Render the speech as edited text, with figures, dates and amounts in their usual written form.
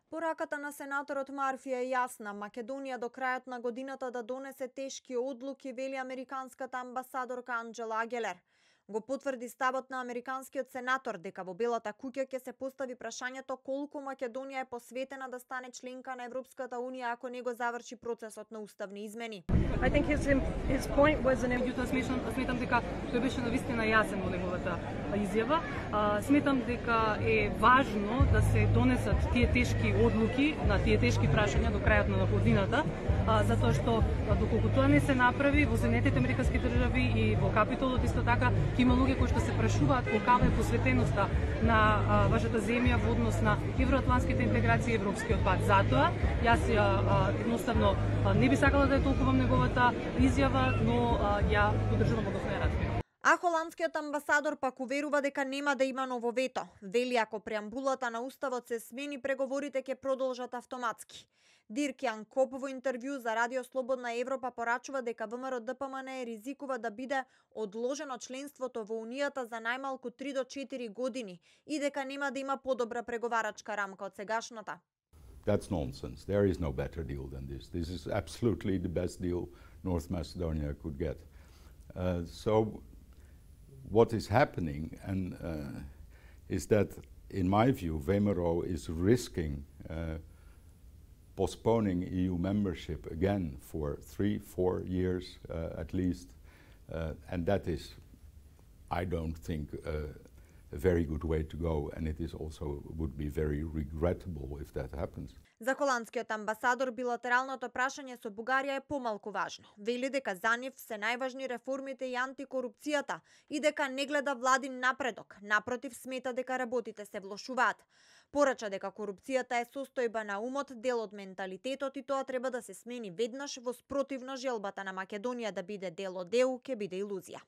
Пораката на сенаторот Марфи е јасна. Македонија до крајот на годината да донесе тешки одлуки, вели американската амбасадорка Анџела Агелер. Го потврди ставот на американскиот сенатор дека во Белата куќа ќе се постави прашањето колку Македонија е посветена да стане членка на Европската унија ако не го заврши процесот на уставни измени. I think his point was сметам дека тој беше навистина јасен во неговата изјава. Сметам дека е важно да се донесат тие тешки одлуки на тие тешки прашања до крајот на годината, затоа што доколку тоа не се направи во Соединетите американски држави и во Капитолот исто така ќе има луѓе кои што се прашуваат колкава е посветеноста на вашата земја во однос на евроатлантските интеграции и европскиот пат. Затоа јас едноставно не би сакала да е толкова неговата изјава, но ја поддржувам односно ја разбирам. А холандскиот амбасадор пак уверува дека нема да има ново вето. Вели ако преамбулата на уставот се смени, преговорите ќе продолжат автоматски. Дирк Јан Коп во интервју за Радио Слободна Европа порачува дека ВМРО ДПМН ризикува да биде одложено членството во Унијата за најмалку 3 до 4 години и дека нема да има подобра преговарачка рамка од сегашната. That's nonsense. There is no better deal than this. This is absolutely the best deal North Macedonia could get. So what is happening is that, in my view, VMRO is risking postponing EU membership again for 3-4 years at least, and that is, I don't think, a very good way to go, and it is also would be very regrettable if that happens. За холандскиот амбасадор билатералното прашање со Бугарија е помалку важно. Вели дека за нив се најважни реформите и антикорупцијата и дека не гледа владин напредок. Напротив, смета дека работите се влошуваат. Порача дека корупцијата е состојба на умот, дел од менталитетот и тоа треба да се смени веднаш, во спротивно желбата на Македонија да биде дел од ЕУ ќе биде илузија.